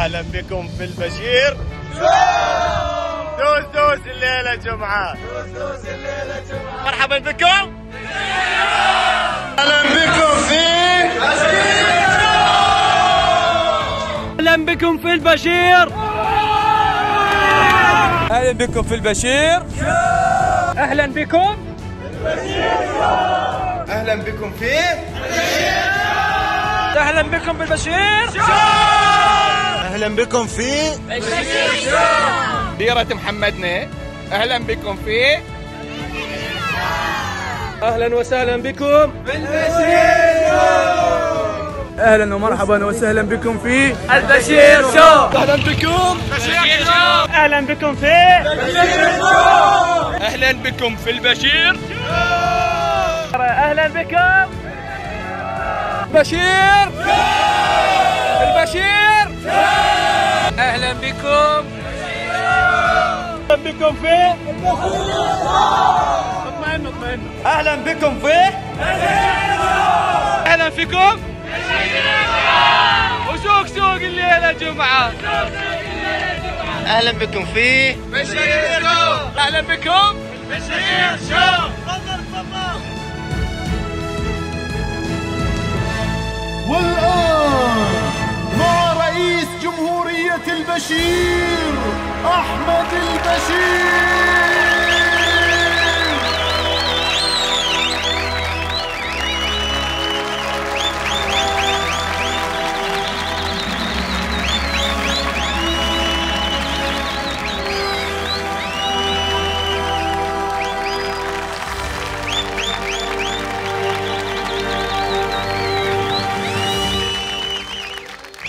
اهلا بكم في البشير دوس دوس الليله جمعه، دوس الليله جمعه. مرحبا بكم، اهلا بكم في البشير، اهلا بكم في البشير، اهلا بكم في البشير، اهلا بكم اهلا بكم في اهلا بكم بالبشير، اهلا بكم في ديرة محمدنا. اهلا بكم في اهلا وسهلا بكم اهلا ومرحبا وسهلا بكم في البشير شو. اهلا بكم بشير شو. اهلا بكم في اهلا بكم في البشير، اهلا بكم بشير البشير، اهلا بكم في اطمئنوا اهلا بكم في اهلا فيكم وسوق سوق الليله جمعه. اهلا بكم في بشير شو. اهلا بكم بشير شو. تفضل والآن مع رئيس جمهورية البشير أحمد البشير.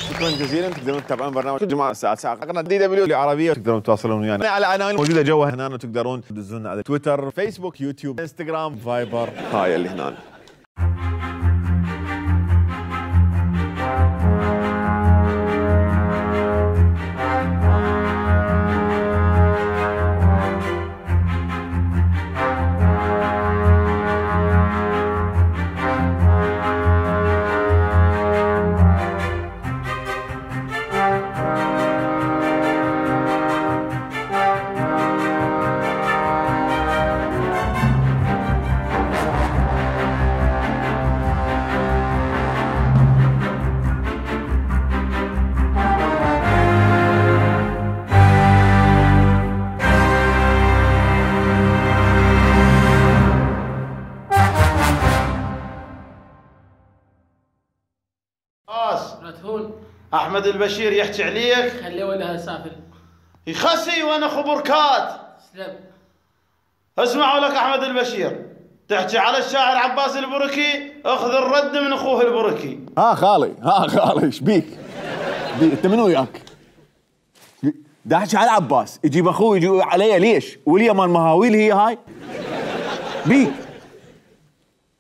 شكرا جزيلا. تقدرون تتابعون برنامج كل جمعه الساعه 9 قناه دي دبليو العربيه، تقدرون تتواصلون ويانا على عناوين موجوده جوا هنا، وتقدرون تدزونا على تويتر، فيسبوك، يوتيوب، انستغرام، فايبر، هاي اللي هنا. أحمد البشير يحكي عليك، خليه ولا سافل يخسي وأنا خبركات. سلام. اسمعوا لك أحمد البشير تحكي على الشاعر عباس البركي، اخذ الرد من أخوه البركي. خالي ايش بيك؟ انت منو وياك؟ دا احكي على عباس، يجيب اخوه يجي علي ليش؟ ولي مال مهاويل هي هاي؟ بيك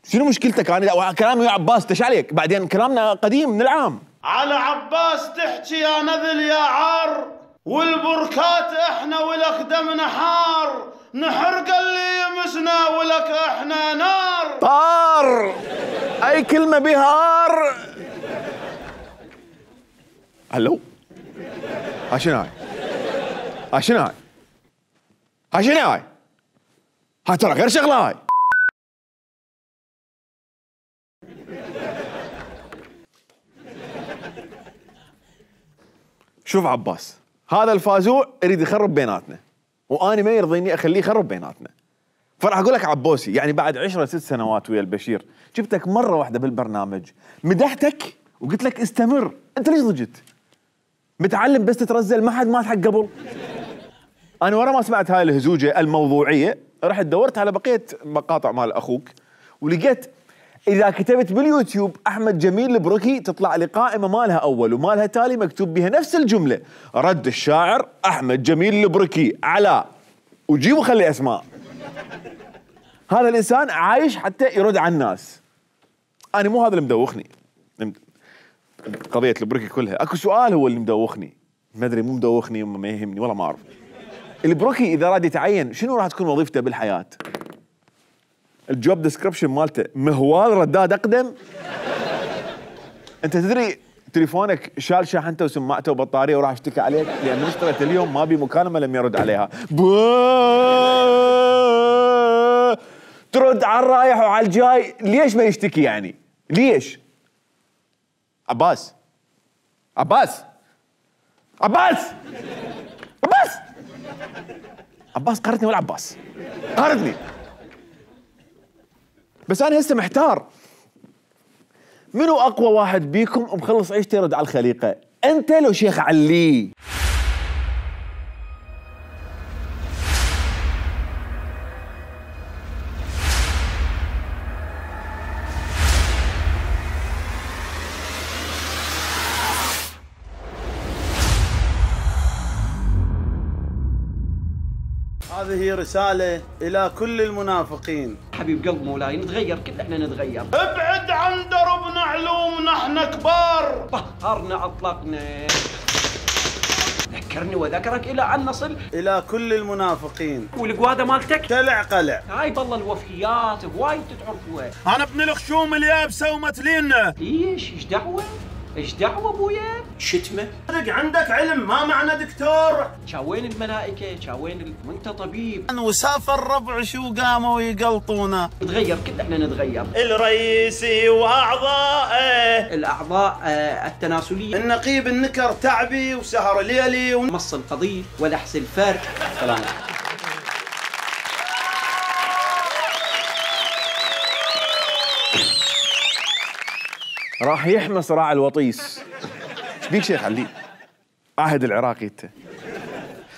شنو مشكلتك؟ انا كلامي ويا عباس تش عليك؟ بعدين كلامنا قديم من العام. على عباس تحكي يا نذل يا عار، والبركات احنا ولك دمنا حار، نحرق اللي يمسنا ولك احنا نار. طار اي كلمه بهار. هلو شنو هاي؟ شنو هاي؟ هاي ترى غير شغله هاي. شوف عباس، هذا الفازوع يريد يخرب بيناتنا، وانا ما يرضيني اخليه يخرب بيناتنا. فراح اقول لك عبوسي، يعني بعد 10 سنوات ويا البشير جبتك مره واحده بالبرنامج، مدحتك وقلت لك استمر، انت ليش ضجت؟ متعلم بس تترزل، ما حد مات حق قبل. انا ورا ما سمعت هاي الهزوجه الموضوعيه رحت دورت على بقيه مقاطع مال اخوك، ولقيت اذا كتبت باليوتيوب احمد جميل البركي تطلع لي قائمه مالها اول ومالها تالي مكتوب بها نفس الجمله، رد الشاعر احمد جميل البركي على، وجيبوا خلي اسماء. هذا الانسان عايش حتى يرد على الناس. انا مو هذا اللي مدوخني قضيه البركي كلها، اكو سؤال هو اللي مدوخني، ما ادري مو مدوخني ما يهمني والله ما اعرف. البركي اذا راد يتعين شنو راح تكون وظيفته بالحياه؟ الجوب ديسكربشن مالته مهوال رداد اقدم. انت تدري تليفونك شال شاحنته وسماعته وبطاريه وراح اشتكى عليك لان اشتريت اليوم ما بي مكالمه لم يرد عليها. ترد على الرايح وعلى الجاي، ليش ما يشتكي يعني؟ ليش؟ عباس عباس عباس عباس عباس قهرتني ولا عباس؟ قهرتني. بس انا هسه محتار، منو اقوى واحد بيكم ومخلص عيشته يرد على الخليقه؟ انت لو شيخ علي؟ هذه رسالة إلى كل المنافقين. حبيب قلب مولاي نتغير، كل احنا نتغير. ابعد عن دربنا علوم، نحن كبار. طهرنا اطلقنا، ذكرني وذكرك الى ان نصل. إلى كل المنافقين. والقواده مالتك تلع قلع. هاي بالله الوفيات بوايد تتعرفوها. أنا ابن الخشوم اليابسة ومتلينا. ايش دعوه؟ ايش دعوه ابويا؟ شتمه؟ عندك علم ما معنى دكتور. شاوين الملائكه؟ شاوين وانت طبيب؟ وسافر الربع شو قاموا يقلطونا. نتغير، كل احنا نتغير. الرئيسي واعضائه، الاعضاء التناسليه، النقيب النكر تعبي وسهر ليلي مص القضيب ولحس الفرق. سلام. راح يحمى صراع الوطيس. ايش بيك شيخ علي؟ عهد العراقي انت.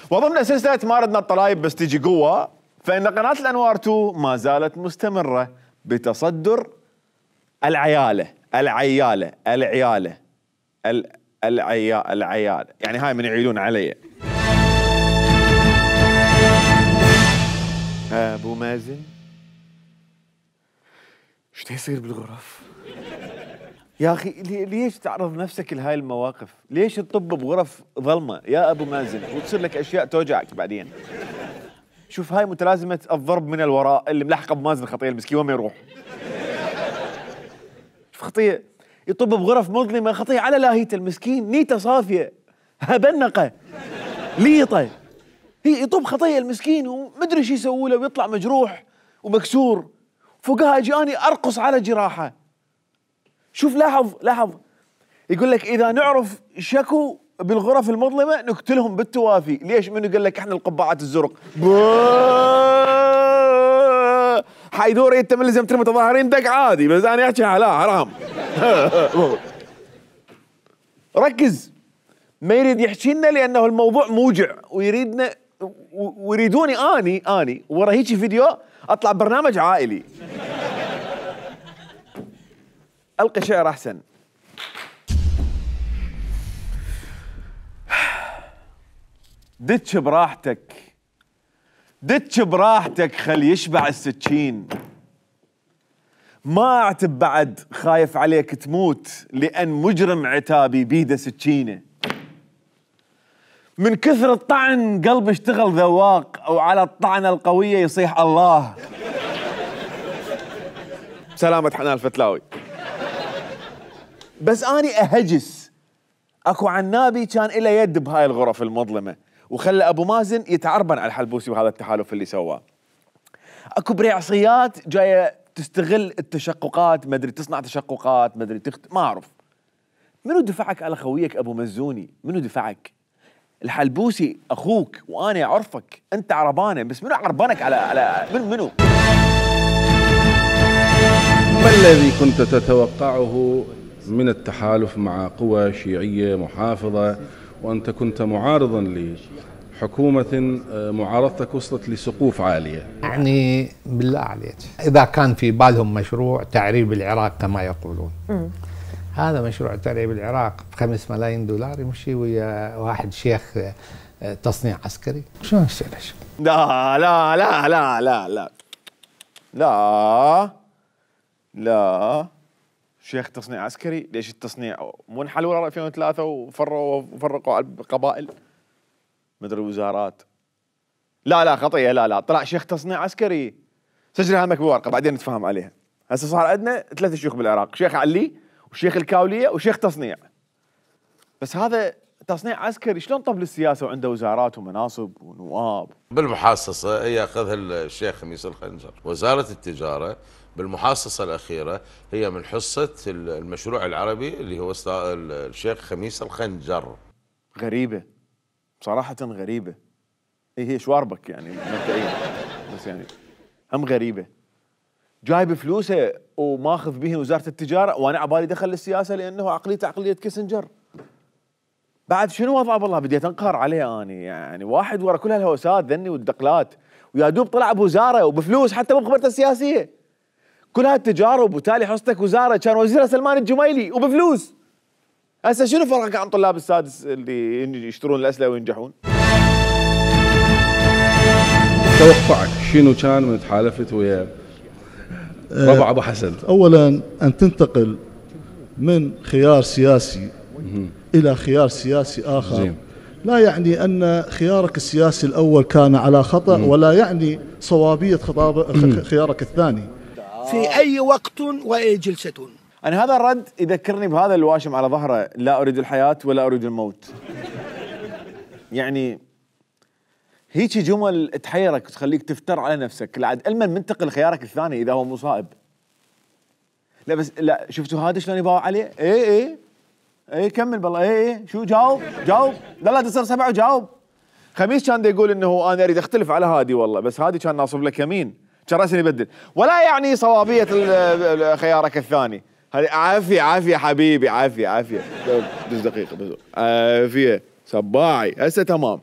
وضمن سلسله ما ردنا الطلايب بس تجي قوه، فان قناه الانوار 2 ما زالت مستمره بتصدر العياله العياله يعني هاي من يعيدون علي. ابو مازن ايش يصير بالغرف؟ يا اخي ليش تعرض نفسك لهاي المواقف؟ ليش تطب بغرف ظلمه يا ابو مازن وتصير لك اشياء توجعك بعدين؟ شوف هاي متلازمه الضرب من الوراء اللي ملحقه بمازن الخطيه المسكين وين ما يروح. شوف خطيه يطب بغرف مظلمه، خطيه على لاهيته المسكين، نيته صافيه هبنقه ليطه، هي يطب خطيه المسكين ومدري شو يسوي له ويطلع مجروح ومكسور، فوقها اجاني ارقص على جراحه. شوف لاحظ يقول لك اذا نعرف شكو بالغرف المظلمه نقتلهم بالتوافي. ليش؟ منو قال لك احنا القبعات الزرق؟ حيدوري انت من لازم ترمي متظاهرين دق عادي، بس انا احكي لا حرام. ركز، ما يريد يحكي لنا لانه الموضوع موجع ويريدنا ويريدوني اني ورا هيك فيديو اطلع برنامج عائلي. القي شعر احسن. دتش براحتك خل يشبع السكين، ما اعتب بعد خايف عليك تموت لان مجرم عتابي بيده سكينه. من كثر الطعن قلبي اشتغل ذواق او على الطعنه القويه يصيح الله. سلامة حنان الفتلاوي. بس اني اهجس، اكو عنابي كان له يد بهاي الغرف المظلمه وخلى ابو مازن يتعربن على الحلبوسي وهذا التحالف اللي سواه. اكو بريعصيات جايه تستغل التشققات، ما ادري تصنع تشققات، ما ادري ما اعرف. منو دفعك على خويك ابو مزوني؟ منو دفعك؟ الحلبوسي اخوك وانا اعرفك، انت عربانه، بس منو عربانك على منو؟ ما الذي كنت تتوقعه من التحالف مع قوى شيعية محافظة وأنت كنت معارضا لحكومة معارضتك وصلت لسقوف عالية؟ يعني بالله عليك إذا كان في بالهم مشروع تعريب العراق كما يقولون، هذا مشروع تعريب العراق ب5 ملايين دولار يمشي ويا واحد شيخ تصنيع عسكري؟ شلون يصير؟ لا لا لا لا لا لا لا لا شيخ تصنيع عسكري؟ ليش التصنيع مو انحلوا 2003 وفرقوا على القبائل مدري وزارات؟ لا خطيه، لا طلع شيخ تصنيع عسكري. سجل همك بورقه بعدين نتفاهم عليها. هسه صار عندنا 3 شيوخ بالعراق، شيخ علي وشيخ الكاوليه وشيخ تصنيع. بس هذا تصنيع عسكري، شلون طب للسياسه وعنده وزارات ومناصب ونواب؟ بالمحاصصه ياخذها الشيخ خميس الخنجر. وزاره التجاره بالمحاصصه الاخيره هي من حصه المشروع العربي اللي هو الشيخ خميس الخنجر. غريبه بصراحه، غريبه. هي شواربك يعني مبدئيا، بس يعني هم غريبه. جايب فلوسه وماخذ به وزاره التجاره، وانا عبالي دخل للسياسه لانه عقليته عقليه كيسنجر. بعد شنو وضعه؟ بالله بديت انقهر عليه اني، يعني واحد ورا كل هالهوسات ذني والدقلات، ويا دوب طلع بوزاره وبفلوس حتى مو بخبرته السياسيه. كل هالتجارب وتالي حصتك وزاره، كان وزيرها سلمان الجميلي وبفلوس. هسه شنو فرقك عن طلاب السادس اللي يشترون الاسلحه وينجحون؟ توقعك شنو كان من تحالفت ويا ربع ابو حسن؟ اولا ان تنتقل من خيار سياسي الى خيار سياسي اخر زين. لا يعني ان خيارك السياسي الاول كان على خطا، ولا يعني صوابيه خيارك الثاني في اي وقت واي جلسه. انا هذا الرد يذكرني بهذا الواشم على ظهره: لا اريد الحياه ولا اريد الموت. يعني هيك جمل تحيرك وتخليك تفتر على نفسك. لعد علما منتقل خيارك الثاني اذا هو مصائب. لا بس لا، شفتوا هذا شلون يباوع عليه؟ اي كمل بالله. اي شو جاوب لا تصير سبعه وجاوب. خميس كان يقول انه انا اريد اختلف على هادي والله، بس هادي كان ناصب لك يمين، كان راسي يبدل. ولا يعني صوابيه خيارك الثاني. هذه عافيه حبيبي، عافيه دز دقيقه بس. عافيه صباعي هسه تمام.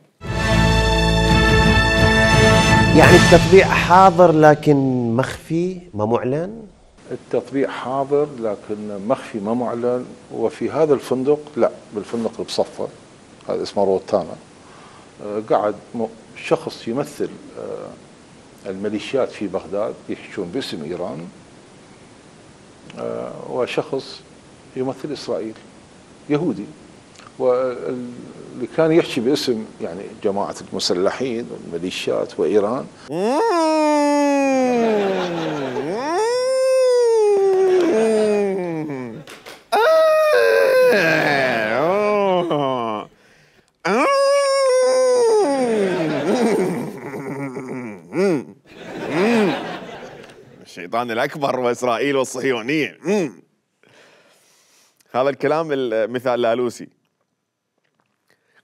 يعني التطبيع حاضر لكن مخفي ما معلن؟ التطبيع حاضر لكن مخفي ما معلن. وفي هذا الفندق، لا بالفندق اللي بصفه هذا اسمه روتانا، قعد شخص يمثل الميليشيات في بغداد يحشون باسم ايران، وشخص يمثل اسرائيل يهودي، واللي كان يحكي باسم يعني جماعه المسلحين والميليشيات وايران. الشيطان الأكبر وإسرائيل والصهيونية. هذا الكلام مثال لالوسي.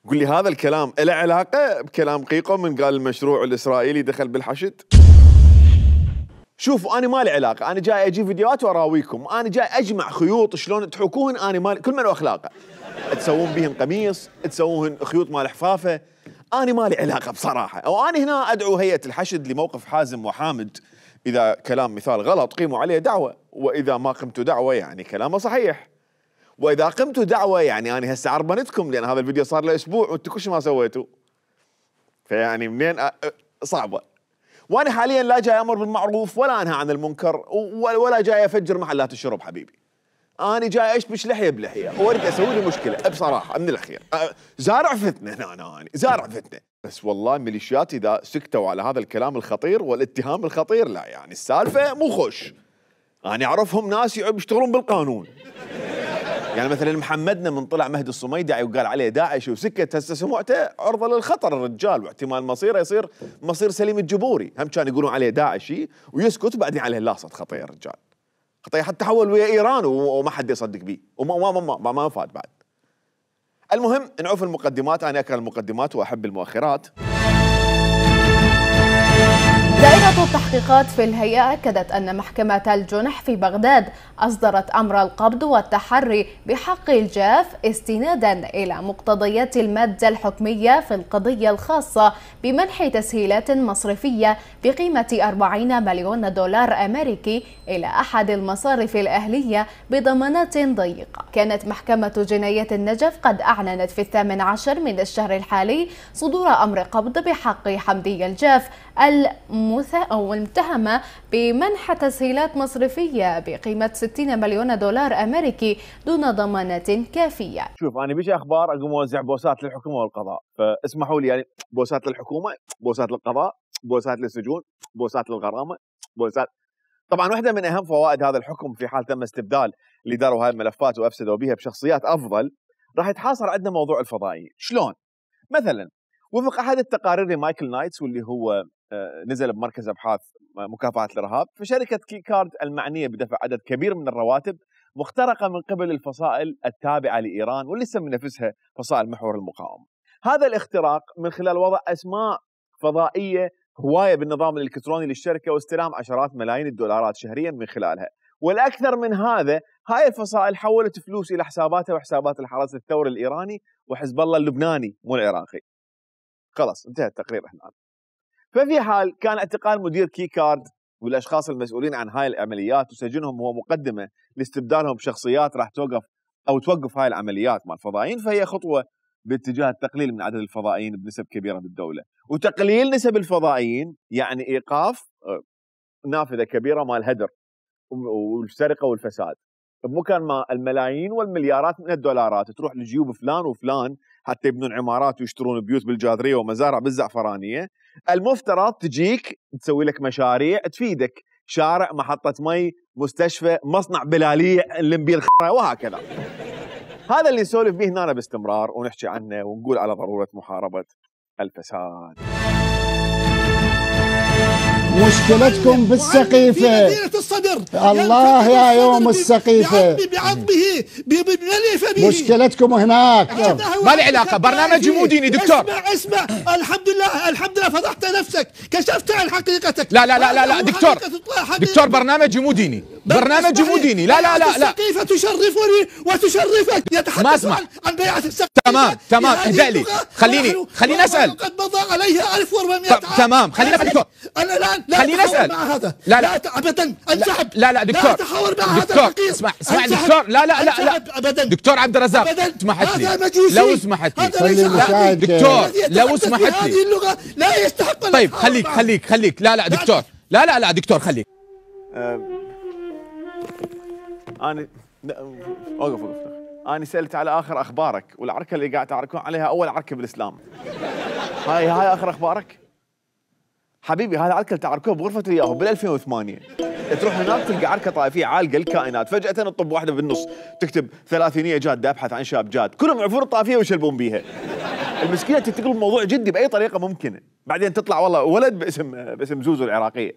قل لي هذا الكلام له علاقة بكلام قيقو من قال المشروع الإسرائيلي دخل بالحشد؟ شوفوا أنا ما لي علاقة، أنا جاي أجيب فيديوهات وأراويكم، أنا جاي أجمع خيوط شلون تحوكوهن، أنا مالي كل من أخلاقه. تسوون بيهن قميص، تسوون خيوط مال حفافة، أنا ما لي علاقة بصراحة. أو أنا هنا أدعو هيئة الحشد لموقف حازم وحامد. إذا كلام مثال غلط قيموا عليه دعوة، وإذا ما قمتوا دعوة يعني كلامه صحيح، وإذا قمتوا دعوة يعني أنا هسه عربنتكم، لأن هذا الفيديو صار له أسبوع وأنتم كل شيء ما سويتوا. فيعني منين صعبة. وأنا حاليا لا جاي أمر بالمعروف ولا أنهى عن المنكر ولا جاي أفجر محلات الشرب حبيبي. أنا جاي أشبش لحية بلحية وأريد أسوي لي مشكلة بصراحة من الأخير. زارع فتنة أنا زارع فتنة. بس والله الميليشيات إذا سكتوا على هذا الكلام الخطير والاتهام الخطير، لا يعني السالفة مو خوش. أنا أعرفهم ناس يشتغلون بالقانون. يعني مثلا محمدنا من طلع مهدي الصميدعي وقال عليه داعش وسكت، هسه سمعته عرضة للخطر الرجال، واحتمال مصيره يصير مصير سليم الجبوري. هم كانوا يقولون عليه داعشي ويسكت، بعدين عليه لاصت خطية الرجال، خطية حتى حول ويا إيران وما حد يصدق بيه وما فاد بعد. المهم نعوف المقدمات، أنا أكره المقدمات وأحب المؤخرات. دائرة التحقيقات في الهيئة أكدت أن محكمة الجنح في بغداد أصدرت أمر القبض والتحري بحق الجاف استنادا إلى مقتضيات المادة الحكمية في القضية الخاصة بمنح تسهيلات مصرفية بقيمة 40 مليون دولار أمريكي إلى أحد المصارف الأهلية بضمانات ضيقة. كانت محكمة جنايات النجف قد أعلنت في 18 من الشهر الحالي صدور أمر قبض بحق حمدي الجاف المتهمة بمنح تسهيلات مصرفية بقيمة 60 مليون دولار أمريكي دون ضمانات كافية. شوف أنا بيجي أخبار أقوم أوزع بوسات للحكومة والقضاء، فاسمحوا لي يعني بوسات للحكومة، بوسات للقضاء، بوسات للسجون، بوسات للغرامة، بوسات. طبعا واحدة من أهم فوائد هذا الحكم في حال تم استبدال اللي داروا هاي الملفات وأفسدوا بها بشخصيات أفضل، راح يتحاصر عندنا موضوع الفضائيين. شلون؟ مثلا وفق احد التقارير لمايكل نايتس واللي هو نزل بمركز ابحاث مكافحه الارهاب، فشركه كي كارد المعنيه بدفع عدد كبير من الرواتب مخترقه من قبل الفصائل التابعه لايران واللي تسمي نفسها فصائل محور المقاومه. هذا الاختراق من خلال وضع اسماء فضائيه هوايه بالنظام الالكتروني للشركه واستلام عشرات ملايين الدولارات شهريا من خلالها. والاكثر من هذا، هاي الفصائل حولت فلوس الى حساباتها وحسابات الحرس الثوري الايراني وحزب الله اللبناني مو العراقي. خلاص انتهى التقرير هنا. ففي حال كان اعتقال مدير كي كارد والاشخاص المسؤولين عن هاي العمليات وسجنهم هو مقدمه لاستبدالهم بشخصيات راح توقف هاي العمليات مع الفضائيين، فهي خطوه باتجاه التقليل من عدد الفضائيين بنسب كبيره بالدوله. وتقليل نسب الفضائيين يعني ايقاف نافذه كبيره مال الهدر والسرقه والفساد، بمكان ما الملايين والمليارات من الدولارات تروح لجيوب فلان وفلان حتى يبنون عمارات ويشترون بيوت بالجاذريه ومزارع بالزعفرانيه، المفترض تجيك تسوي لك مشاريع تفيدك، شارع، محطه مي، مستشفى، مصنع بلاليه نلم بيه الخرا وهكذا. هذا اللي نسولف به هنا باستمرار ونحكي عنه ونقول على ضروره محاربه الفساد. مشكلتكم بالسقيفة في مدينة الصدر. الله يا يوم السقيفة بعظمه بمليفه. مشكلتكم هناك. ما لي علاقة، برنامج مو ديني دكتور. اسمع الحمد لله فضحت نفسك، كشفت عن حقيقتك. لا دكتور برنامج مو ديني، برنامج مو ديني. لا السقيفة تشرفني وتشرفك. يتحدث عن بيعة السقيفة. تمام اهدأ لي، خليني اسأل. قد مضى عليها 1400 عام. تمام خلينا دكتور. انا الان خليني اسال. مع هذا. لا ابدا انسحب. لا دكتور. لا تحاور مع هذا الفقير. اسمع دكتور. لا ابدا. دكتور عبد الرزاق اسمحت لي، لو سمحت لي دكتور، لو سمحت لي. هذه اللغة لا يستحق. طيب خليك. لا دكتور. لا دكتور خليك. انا اوقف. انا سألت على اخر اخبارك، والعركه اللي قاعد تعركون عليها اول عركه بالاسلام. هاي اخر اخبارك؟ حبيبي هذا عركه تعركوها بغرفه الياهو بال 2008. تروح هناك تلقى عركه طائفيه عالقه الكائنات، فجاه تطب واحده بالنص تكتب 30 جاده ابحث عن شاب جاد، كلهم يعرفون الطائفيه ويشلبون بيها. المسكينه تتقلب الموضوع جدي باي طريقه ممكنه، بعدين تطلع والله ولد باسم زوزو العراقيه.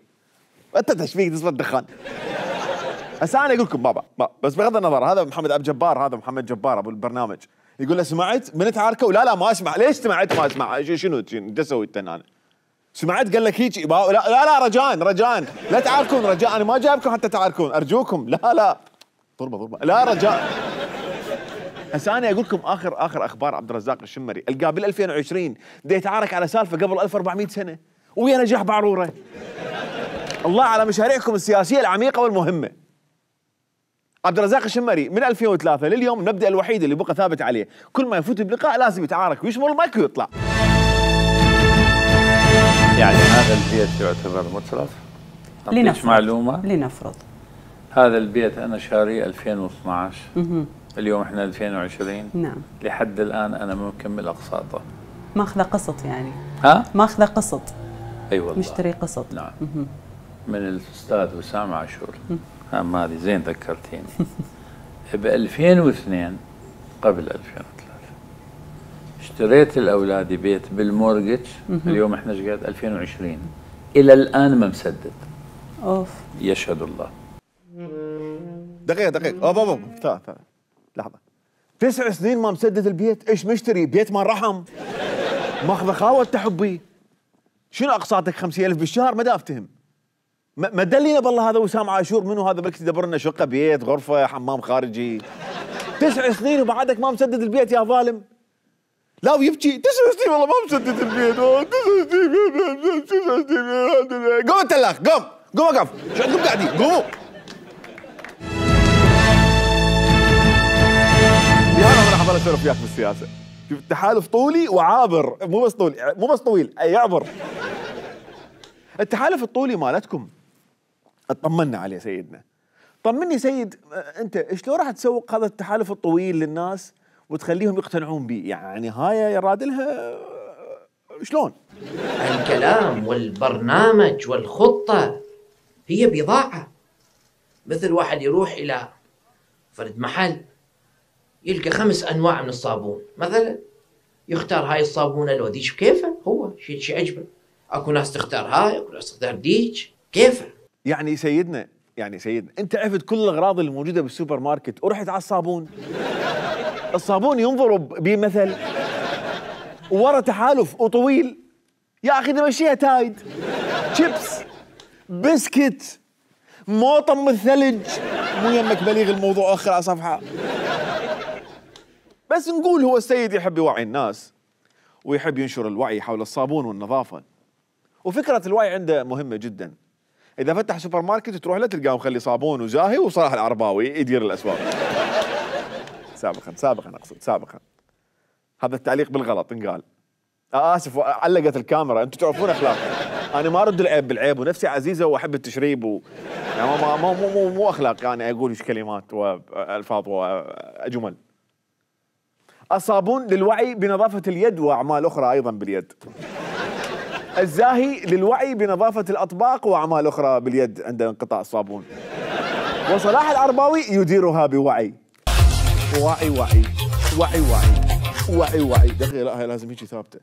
انت تشفيك تصفى الدخان. هسه انا اقول لكم بابا بس بغض النظر، هذا محمد ابو جبار، هذا محمد جبار ابو البرنامج، يقول له سمعت من تعاركوا؟ لا ما اسمع. ليش سمعت ما اسمع؟ شنو انت سويت انا؟ سمعت قال لك هيك؟ لا رجاء لا تعاركون، رجاء انا ما جايبكم حتى تعاركون، ارجوكم. لا ضربه لا رجاء. هسه انا اقول لكم اخر اخبار عبد الرزاق الشمري، القاه بال 2020 دا يتعارك على سالفه قبل 1400 سنه ويا نجاح بعروره. الله على مشاريعكم السياسيه العميقه والمهمه. عبد الرزاق الشمري من 2003 لليوم المبدا الوحيد اللي بقى ثابت عليه، كل ما يفوت بلقاء لازم يتعارك ويشمر المايك ويطلع. يعني هذا البيت يعتبر متلف؟ لنفرض معلومة؟ لنفرض هذا البيت أنا شاريه 2012. اليوم احنا 2020. نعم. لحد الآن أنا ما مكمل أقساطه. ماخذه قسط يعني؟ ها؟ ماخذه قسط. أي والله. مشتري قسط. نعم. من الأستاذ وسام عاشور. هذه زين ذكرتيني. ب 2002 قبل 2003 اشتريت لاولادي بيت بالمورجج. اليوم احنا ايش قد 2020 الى الان ما مسدد. اوف. يشهد الله. دقيقه بابا لحظه. 9 سنين ما مسدد البيت، ايش مشتري؟ بيت مال رحم ماخذ خاوه تحبي. شنو اقساطك 50,000 بالشهر؟ ما دا افتهم. ما دلينا بالله هذا وسام عاشور منو هذا؟ بلكي يدبر لنا شقه، بيت، غرفه، حمام خارجي. 9 سنين وبعدك ما مسدد البيت يا ظالم. لا ويبكي 9 سنين والله ما مسدد البيت. 9 سنين. قوم انت الاخ، قوم وقف. شو عندكم قاعدين؟ قوموا. انا راح اظل اسولف وياك بالسياسه. شوف التحالف طولي وعابر، مو بس طويل يعبر. التحالف الطولي مالتكم اطمنا عليه سيدنا. طمني سيد، انت شلون راح تسوق هذا التحالف الطويل للناس وتخليهم يقتنعون به؟ يعني هاي يرادلها شلون؟ الكلام والبرنامج والخطة هي بضاعة. مثل واحد يروح إلى فرد محل يلقى 5 أنواع من الصابون مثلا، يختار هاي الصابونة لو ذيك بكيفه، هو شيء عجبه. اكو ناس تختار هاي، اكو ناس تختار ديك، كيفه. يعني سيدنا انت عرفت كل الاغراض اللي موجوده بالسوبر ماركت ورحت على الصابون. الصابون ينضرب بمثل ورا تحالف وطويل. يا اخي نمشيها تايد، شيبس، بسكت، موطم الثلج، مو يمك بليغ الموضوع اخر على صفحه. بس نقول هو السيد يحب يوعي الناس ويحب ينشر الوعي حول الصابون والنظافه. وفكره الوعي عنده مهمه جدا. اذا فتح سوبر ماركت تروح له تلقاه مخلي صابون وزاهي وصلاح العرباوي يدير الاسواق. سابقا هذا التعليق بالغلط انقال. اسف علقت الكاميرا، انتم تعرفون اخلاقي. انا ما ارد العيب بالعيب ونفسي عزيزه واحب التشريب يعني مو اخلاق يعني اقول كلمات والفاظ وجمل. الصابون للوعي بنظافه اليد واعمال اخرى ايضا باليد. الزاهي للوعي بنظافه الاطباق واعمال اخرى باليد عند انقطاع الصابون. وصلاح العرباوي يديرها بوعي. وعي دقيقة. لا هي لازم هيك ثابتة.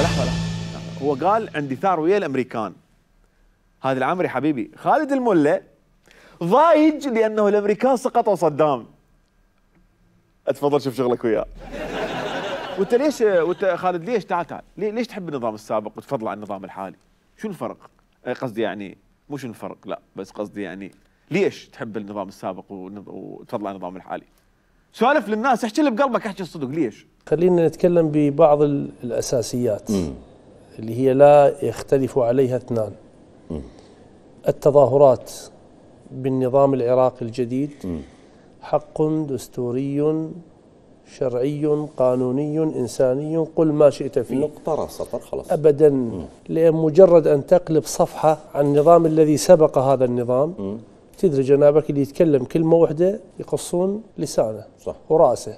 لحظة. هو قال عندي ثار ويا الامريكان. هذا العمري حبيبي خالد الملا ضايج لانه الامريكان سقطوا صدام. اتفضل شوف شغلك وياه. وانت خالد ليش تعال ليش تحب النظام السابق وتفضل عن النظام الحالي؟ شو الفرق؟ قصدي يعني مو شو الفرق، لا بس قصدي يعني ليش تحب النظام السابق وتفضل عن النظام الحالي؟ سولف للناس، احكي اللي بقلبك، احكي الصدق. ليش؟ خلينا نتكلم ببعض الاساسيات اللي هي لا يختلف عليها اثنان. التظاهرات بالنظام العراقي الجديد حق دستوري شرعي قانوني إنساني، قل ما شئت فيه. نقطة سطر خلاص. أبدا، لأن مجرد أن تقلب صفحة عن النظام الذي سبق هذا النظام تدري جنابك اللي يتكلم كلمة واحدة يقصون لسانه صح وراسه.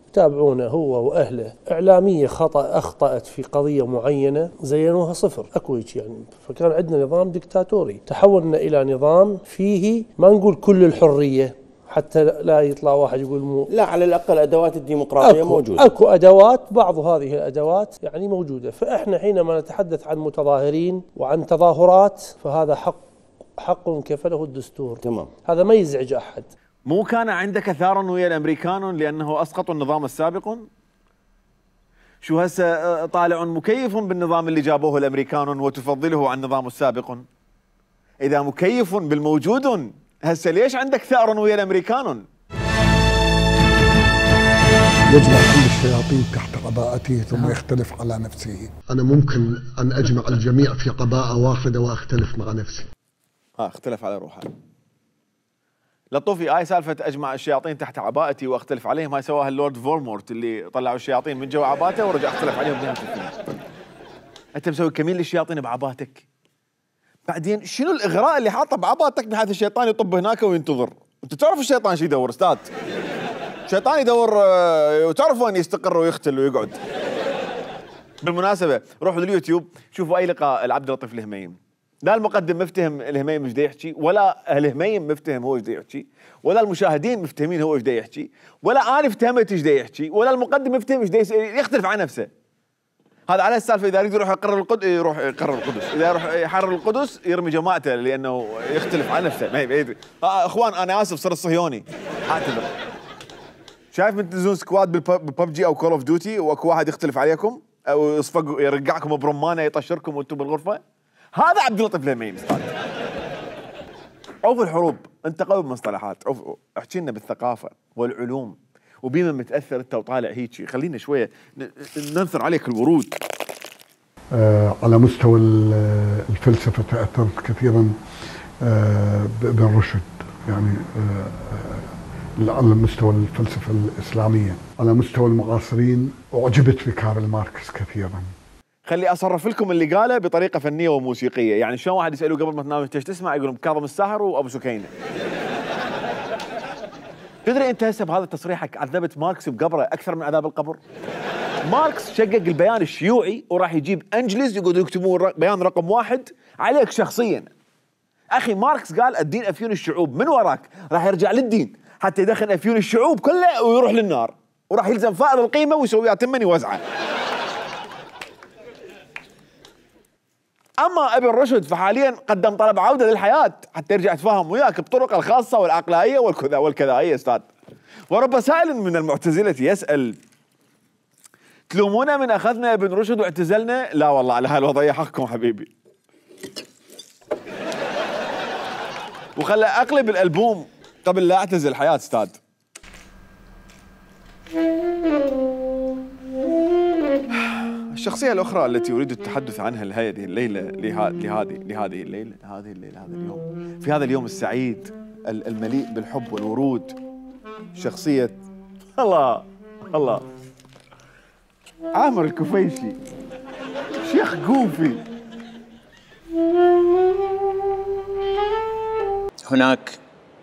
يتابعونه هو وأهله. إعلامية أخطأت في قضية معينة زينوها صفر، أكو هيك يعني. فكان عندنا نظام دكتاتوري، تحولنا إلى نظام فيه ما نقول كل الحرية حتى لا يطلع واحد يقول لا، على الأقل أدوات الديمقراطية موجودة. أكو أدوات، بعض هذه الأدوات يعني موجودة. فإحنا حينما نتحدث عن متظاهرين وعن تظاهرات فهذا حق كفله الدستور. تمام. هذا ما يزعج أحد. مو كان عندك ثار ويا الأمريكان لأنه أسقطوا النظام السابق؟ شو هسه طالع مكيف بالنظام اللي جابوه الأمريكان وتفضله عن النظام السابق؟ إذا مكيف بالموجود هسه ليش عندك ثار ويا الامريكان؟ يجمع كل الشياطين تحت قباءته ثم يختلف على نفسه. انا ممكن ان اجمع الجميع في قباءة واحدة واختلف مع نفسي. اختلف على روحه. لطوفي هاي سالفة اجمع الشياطين تحت عباءتي واختلف عليهم، هاي سواها اللورد فولمورت اللي طلعوا الشياطين من جوا عباءته ورجع اختلف عليهم بنهاية الفيلم. انت مسوي كمين للشياطين بعباتك. بعدين شنو الاغراء اللي حاطه بعباتك بحيث الشيطان يطب هناك وينتظر؟ انت تعرف الشيطان شو يدور استاذ؟ الشيطان يدور وتعرف وين يستقر ويختل ويقعد. بالمناسبه روحوا لليوتيوب شوفوا اي لقاء العبد اللطيف الهميم. لا المقدم مفتهم الهميم ايش دا يحكي، ولا الهميم مفتهم هو ايش دا يحكي، ولا المشاهدين مفتهمين هو ايش دا يحكي، ولا انا فهمت ايش دا يحكي، ولا المقدم مفتهم ايش دا يختلف عن نفسه. هذا على السالفه اذا يريد يروح يقرر القدس يروح يقرر القدس، اذا يروح يحرر القدس يرمي جماعته لانه يختلف عن نفسه، ما يدري. اخوان انا اسف صرت صهيوني، اعتذر. شايف من تنزلون سكواد بالببجي او كول اوف ديوتي واكو واحد يختلف عليكم او يصفق يرقعكم برمانه يطشركم وانتم بالغرفه؟ هذا عبد اللطيف الهميم استاذ. عوف الحروب، انت قوي بالمصطلحات، احكي لنا بالثقافه والعلوم وبما متاثر انت وطالع هيك، خلينا شويه ننثر عليك الورود. على مستوى الفلسفه تاثرت كثيرا بابن رشد، يعني على مستوى الفلسفه الاسلاميه، على مستوى المعاصرين اعجبت بكارل ماركس كثيرا. خلي اصرف لكم اللي قاله بطريقه فنيه وموسيقيه، يعني شلون واحد يسالوه قبل ما تنام ايش تسمع يقولون كاظم الساهر وابو سكينه. تدري انت هسه بهذا تصريحك عذبت ماركس بقبره اكثر من عذاب القبر؟ ماركس شقق البيان الشيوعي وراح يجيب انجلز يقعدوا يكتبون بيان رقم 1 عليك شخصيا. اخي ماركس قال الدين افيون الشعوب، من وراك راح يرجع للدين حتى يدخل افيون الشعوب كله ويروح للنار، وراح يلزم فائض القيمه ويسويها تمن يوزعه. اما ابن رشد فحاليا قدم طلب عوده للحياه حتى يرجع يتفاهم وياك بطرق الخاصه والعقلائيه والكذا والكذائيه استاذ. ورب سائل من المعتزله يسال: تلومونا من اخذنا ابن رشد واعتزلنا؟ لا والله على هالوضعيه حقكم حبيبي. وخلى اقلب الالبوم قبل لا اعتزل الحياه استاذ. الشخصية الأخرى التي أريد التحدث عنها هذه الليلة هذا اليوم، في هذا اليوم السعيد المليء بالحب والورود، شخصية الله عامر الكفيشي، شيخ جوفي. هناك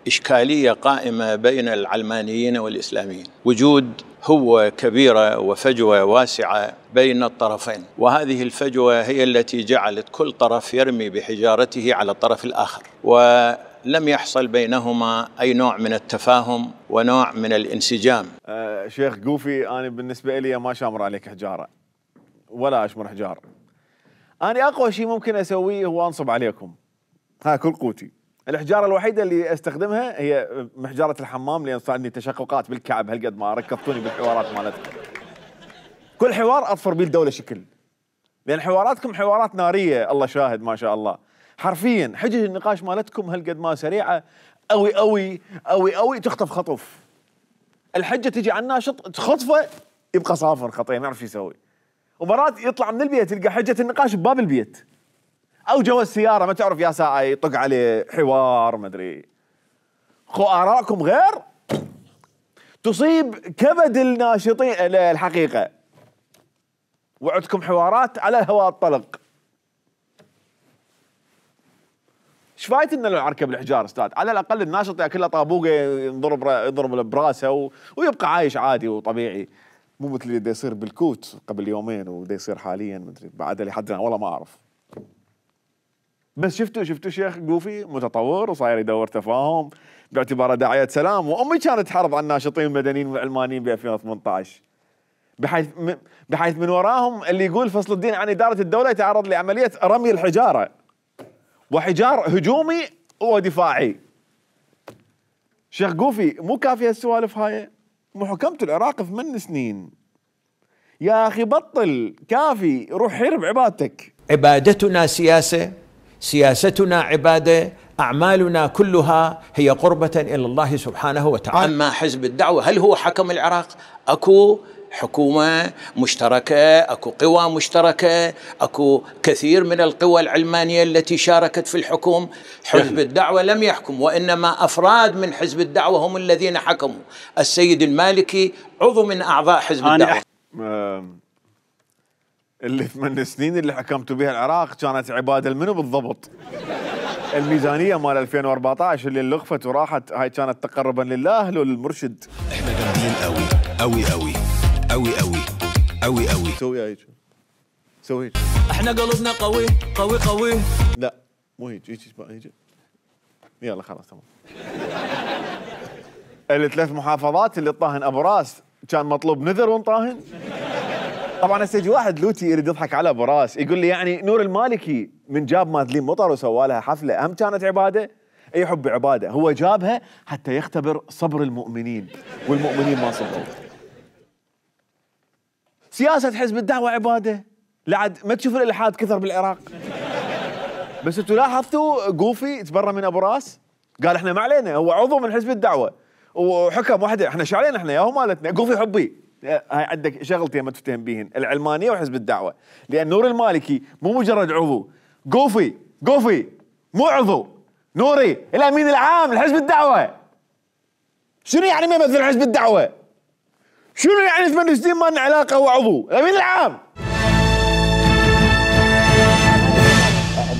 إشكالية قائمة بين العلمانيين والإسلاميين، وجود هو كبيرة وفجوة واسعة بين الطرفين، وهذه الفجوة هي التي جعلت كل طرف يرمي بحجارته على الطرف الآخر، ولم يحصل بينهما أي نوع من التفاهم ونوع من الانسجام. شيخ جوفي، أنا بالنسبة لي ما شامر عليك حجارة ولا أشمر حجار. أنا أقوى شيء ممكن أسويه هو أنصب عليكم، ها كل قوتي. الحجارة الوحيدة اللي استخدمها هي محجارة الحمام، لأن صار عندي تشققات بالكعب هالقد ما ركضتوني بالحوارات مالتكم. كل حوار أظفر بيه الدولة شكل، لأن حواراتكم حوارات نارية، الله شاهد ما شاء الله. حرفيا حجج النقاش مالتكم هالقد ما سريعة أوي أوي أوي أوي، تخطف خطف. الحجة تجي على الناشط تخطفه يبقى صافر خطية ما يعرف شو يسوي. ومرات يطلع من البيت يلقى حجة النقاش بباب البيت، او جوا السياره ما تعرف يا ساعه يطق عليه حوار ما ادري. خو ارائكم غير تصيب كبد الناشطين الحقيقه، وعدكم حوارات على الهواء الطلق. ايش فايتنا لو نركب الحجار استاذ؟ على الاقل الناشط ياكله طابوقه يضرب براسه ويبقى عايش عادي وطبيعي، مو مثل اللي يصير بالكوت قبل يومين ودا يصير حاليا ما ادري بعد لحد والله ما اعرف. بس شفتوا شيخ جوفي متطور وصاير يدور تفاهم باعتباره داعية سلام، وامي كانت تحرض على الناشطين المدنيين والعلمانيين ب 2018 بحيث من وراهم اللي يقول فصل الدين عن إدارة الدولة يتعرض لعملية رمي الحجارة، وحجار هجومي ودفاعي. شيخ جوفي مو كافية السوالف هاي؟ مو حكمت العراق 8 سنين يا اخي، بطل كافي، روح حرب عبادتك. عبادتنا سياسة، سياستنا عبادة، أعمالنا كلها هي قربة إلى الله سبحانه وتعالى. أما حزب الدعوة هل هو حكم العراق؟ أكو حكومة مشتركة، أكو قوى مشتركة، أكو كثير من القوى العلمانية التي شاركت في الحكم. حزب الدعوة لم يحكم، وإنما أفراد من حزب الدعوة هم الذين حكموا. السيد المالكي عضو من أعضاء حزب الدعوة. اللي 8 سنين اللي حكمتوا بها العراق كانت عبادة لمنو بالضبط؟ الميزانية مال 2014 اللي لغفت وراحت هاي كانت تقربا لله لو للمرشد. احنا جامدين قوي قوي قوي قوي قوي قوي قوي. سوي هيك سوي هيك. احنا قلوبنا قوي قوي قوي. لا مو هيك هيك. يلا خلاص تمام. ال3 محافظات اللي طاهن ابو راس كان مطلوب نذر ونطاهن. طبعا هسه يجي واحد لوتي يريد يضحك على ابو راس يقول لي يعني نور المالكي من جاب مادلين مطر وسوى لها حفله هم كانت عباده؟ اي حب عباده، هو جابها حتى يختبر صبر المؤمنين والمؤمنين ما صبروا. سياسه حزب الدعوه عباده، لعد ما تشوف الالحاد كثر بالعراق. بس انتوا لاحظتوا جوفي تبرى من ابو راس؟ قال احنا ما علينا، هو عضو من حزب الدعوه وحكم وحده، احنا شو علينا احنا ياهو مالتنا. جوفي حبي هاي عندك شغلتين ما تفتهم بيهن، العلمانيه وحزب الدعوه، لان نور المالكي مو مجرد عضو، جوفي مو عضو، نوري الامين العام لحزب الدعوه. شنو يعني ما يمثل حزب الدعوه؟ شنو يعني 8 سنين ما لنا علاقه هو عضو؟ الامين العام.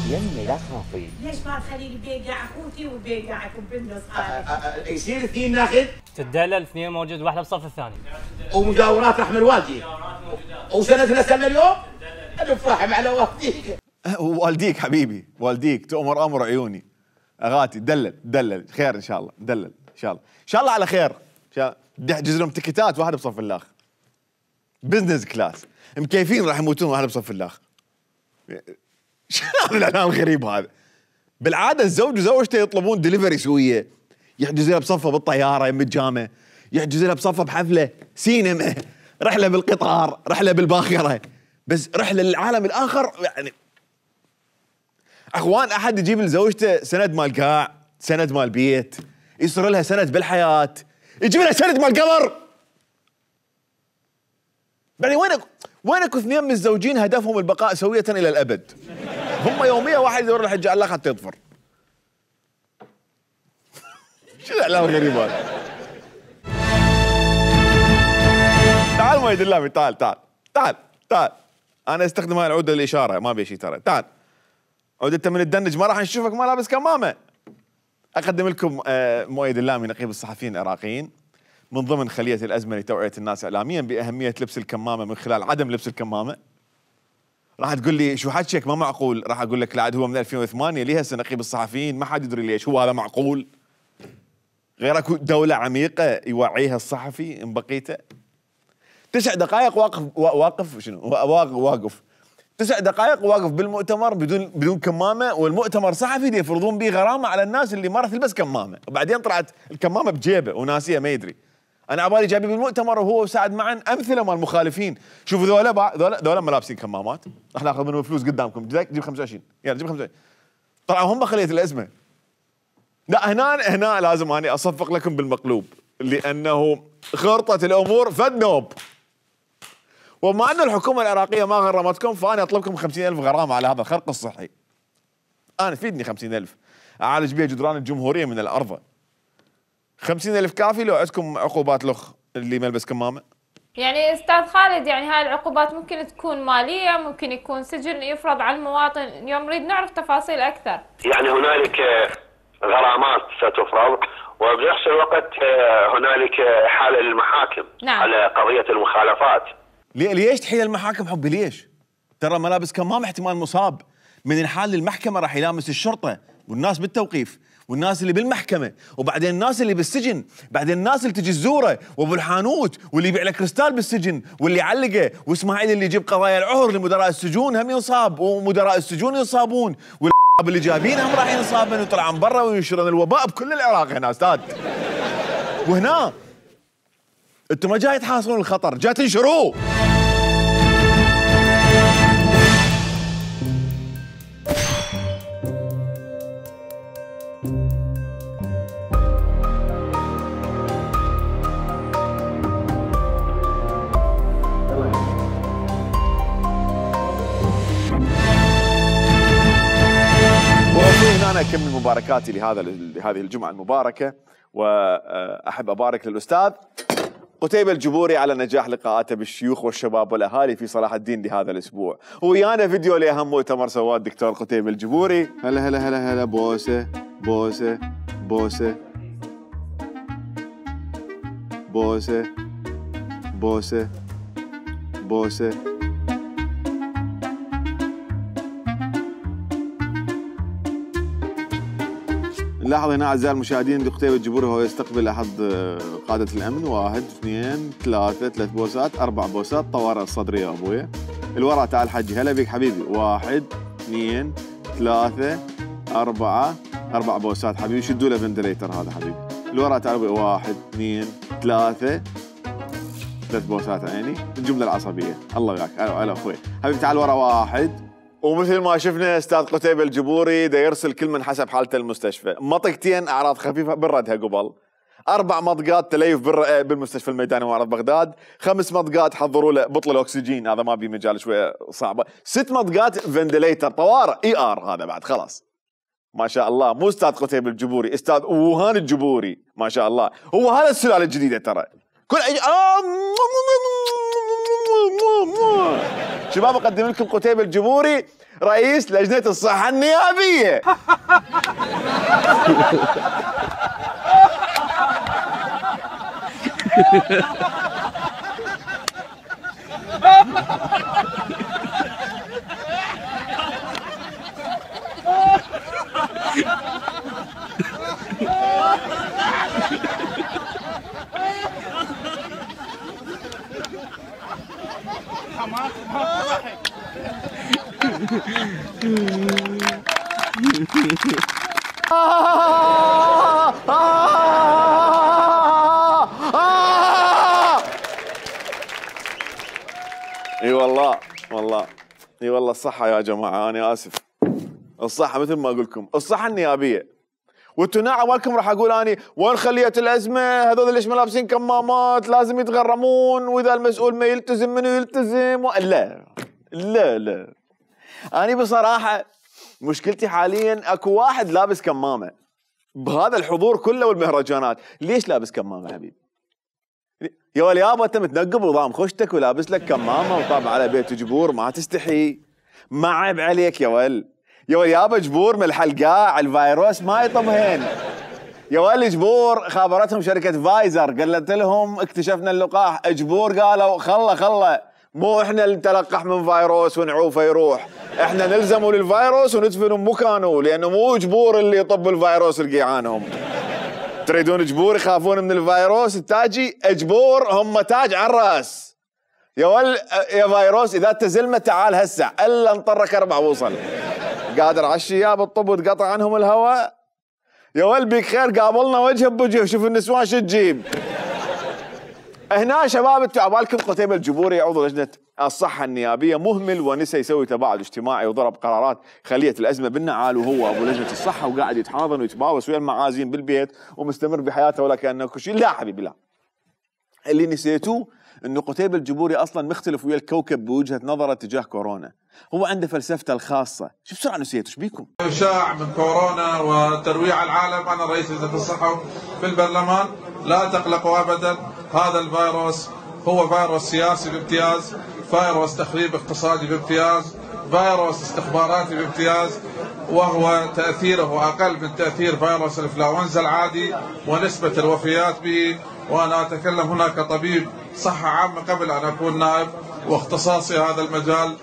يمي لا خافي. ليش ما تخلي البيقع اخوتي وبيقعكم بالنص يصير اثنين ناخذ؟ تدلل اثنين موجود، واحده بالصف الثاني. ومجاورات احمد والدي. وسنتنا سنه اليوم؟ نفرح على والديك. والديك حبيبي، والديك تؤمر امر عيوني. اغاتي دلل خير ان شاء الله، دلل ان شاء الله، ان شاء الله على خير، بدي احجز لهم تكتات واحد بصف الاخ بزنس كلاس، مكيفين راح يموتون واحد بصف الاخ. شنو هذا الاعلان الغريب هذا؟ بالعاده الزوج وزوجته يطلبون دليفري سويه، يحجز لها بصفه بالطياره يم الجامعه، يحجز لها بصفه بحفله، سينما، رحله بالقطار، رحله بالباخره، بس رحله للعالم الاخر يعني. اخوان احد يجيب لزوجته سند مال قاع، سند مال بيت، يصير لها سند بالحياه، يجيب لها سند مال قبر. يعني وينك اثنين من الزوجين هدفهم البقاء سوية الى الابد؟ هم يوميا واحد يدور الحجه على الاخر حتى يطفر. شو الاعلام الغريب هذا؟ تعال مؤيد اللامي، تعال. انا استخدم هاي العوده للاشاره، ما بي شيء ترى. تعال عود انت من الدنج، ما راح نشوفك ما لابس كمامه. اقدم لكم مؤيد اللامي نقيب الصحفيين العراقيين من ضمن خليه الازمه لتوعيه الناس اعلاميا باهميه لبس الكمامه من خلال عدم لبس الكمامه. راح تقول لي شو حكيك ما معقول، راح اقول لك لا عاد هو من 2008 ليه هسه نقيب الصحفيين ما حد يدري ليش، هو هذا معقول؟ غير اكو دوله عميقه يوعيها الصحفي ان بقيته. 9 دقائق واقف 9 دقائق واقف بالمؤتمر بدون كمامه، والمؤتمر صحفي دي يفرضون به غرامه على الناس اللي ما راح تلبس كمامه، وبعدين طلعت الكمامه بجيبه وناسيه ما يدري. انا عبالي جايبين بالمؤتمر وهو وسعد معا امثله مال المخالفين. شوفوا ذولا ما لابسين كمامات، راح ناخذ منهم فلوس قدامكم، جيب 25 يلا جيب 25. طلعوا هم خليه الازمه. لا هنا لازم اني اصفق لكم بالمقلوب، لانه خرطه الامور فد نوب. وبما ان الحكومه العراقيه ما غرمتكم، فانا اطلبكم 50,000 غرامه على هذا الخرق الصحي. انا تفيدني 50,000 اعالج بها جدران الجمهوريه من الارض. 50,000 كافي لو عندكم عقوبات لخ اللي ما يلبس كمامه؟ يعني استاذ خالد، يعني هاي العقوبات ممكن تكون ماليه، ممكن يكون سجن يفرض على المواطن، اليوم نريد نعرف تفاصيل اكثر. يعني هنالك غرامات ستفرض، وبنفس الوقت هنالك حاله للمحاكم. نعم. على قضيه المخالفات. ليش تحيل المحاكم حبي ليش؟ ترى ملابس كمامه احتمال مصاب من الحال للمحكمه راح يلامس الشرطه والناس بالتوقيف والناس اللي بالمحكمه، وبعدين الناس اللي بالسجن، بعدين الناس اللي تجي الزوره وابو الحانوت واللي يبيع له كريستال بالسجن واللي يعلقه، واسماعيل اللي يجيب قضايا العهر لمدراء السجون هم ينصاب، ومدراء السجون ينصابون، اللي جايبينهم راح ينصابن ويطلعون برا وينشرون الوباء بكل العراق هنا استاذ. وهنا انتم ما جاي تحاصرون الخطر، جاي تنشروه. أنا أكمل مباركاتي لهذه الجمعة المباركة، وأحب أبارك للأستاذ قتيبة الجبوري على نجاح لقاءاته بالشيوخ والشباب والأهالي في صلاح الدين لهذا الأسبوع، ويانا فيديو لأهم مؤتمر سواه الدكتور قتيبة الجبوري. هلا هلا هلا هلا، بوسة بوسة بوسة بوسة بوسة بوسة. نلاحظ هنا اعزائي المشاهدين قتيبة الجبوري وهو يستقبل احد قادة الامن. 1 2 3 بوسات، 4 بوسات طوارئ الصدرية يا ابويا. الورا تعال حجي، هلا بك حبيبي. 1 2 3 4 بوسات حبيبي، شدوا له فنتليتر هذا حبيبي. الورا تعال ابوي. 1 2 3 بوسات عيني. الجملة العصبية الله وياك. هلا اخوي حبيبي تعال ورا. 1. ومثل ما شفنا استاذ قتيبة الجبوري دا يرسل كل من حسب حالته المستشفى. مطقتين اعراض خفيفه بنردها قبل، 4 مطقات تليف بالمستشفى الميداني معرض بغداد، 5 مطقات حضروا له بطل الاكسجين، هذا ما بي مجال شويه صعبه، 6 مطقات فنتليتر طوارئ ER، هذا بعد خلاص ما شاء الله. مو استاذ قتيبة الجبوري، استاذ وهان الجبوري ما شاء الله. هو هذا السلاله الجديده ترى. كل شباب اقدم لكم قتيبة الجبوري رئيس لجنة الصحة النيابية. اي والله اي والله الصحة يا جماعة، أنا آسف. الصحة مثل ما أقول لكم، الصحة النيابية. وانتوا ناعم مالكم راح أقول أني وين خلية الأزمة؟ هذول ليش ملابسين كمامات؟ لازم يتغرمون، وإذا المسؤول ما يلتزم منو يلتزم؟ لا لا لا. أنا بصراحة مشكلتي حاليا أكو واحد لابس كمامة بهذا الحضور كله والمهرجانات، ليش لابس كمامة حبيبي؟ يا ولد يابا انت متنقب وضام خشتك ولابس لك كمامه وطابع على بيت جبور، ما تستحي؟ ما عيب عليك يا ول؟ يا ول يابا جبور من الحلقاع، الفيروس ما يطمهن. يا ول جبور خابرتهم شركه فايزر قالت لهم اكتشفنا اللقاح، جبور قالوا خله مو احنا اللي نتلقح من فيروس ونعوفه يروح، احنا نلزمه للفيروس وندفنه بمكانه، لانه مو جبور اللي يطب الفيروس رقيعانهم. تريدون جبور يخافون من الفيروس التاجي؟ جبور هم تاج على الراس. يا فيروس اذا تزلمه تعال هسه الا نطرك 4 وصل. قادر على الشياب الطب وتقطع عنهم الهواء؟ يا ول بيك خير قابلنا وجه بوجه، شوف النسوان شو تجيب. هنا شباب انتوا عبالكم قتيبة الجبوري عضو لجنة الصحة النيابية مهمل ونسى يسوي تباعد اجتماعي وضرب قرارات خلية الأزمة بالنعال، وهو أبو لجنة الصحة وقاعد يتحاضن ويتباوس ويا المعازيم بالبيت ومستمر بحياته ولا كأنه كل شيء. لا حبيبي لا، اللي نسيتوه انه قتيبة الجبوري اصلا مختلف ويا الكوكب بوجهة نظره تجاه كورونا، هو عنده فلسفته الخاصة. شو بسرعة نسيتوا؟ ايش بيكم؟ إشاعة من كورونا وترويع العالم. أنا رئيس لجنة الصحة في البرلمان، لا تقلقوا أبدا، هذا الفيروس هو فيروس سياسي بامتياز، فيروس تخريب اقتصادي بامتياز، فيروس استخباراتي بامتياز، وهو تأثيره أقل من تأثير فيروس الإنفلونزا العادي ونسبة الوفيات به. وأنا أتكلم هنا كطبيب صحة عامة قبل أن أكون نائب، واختصاصي هذا المجال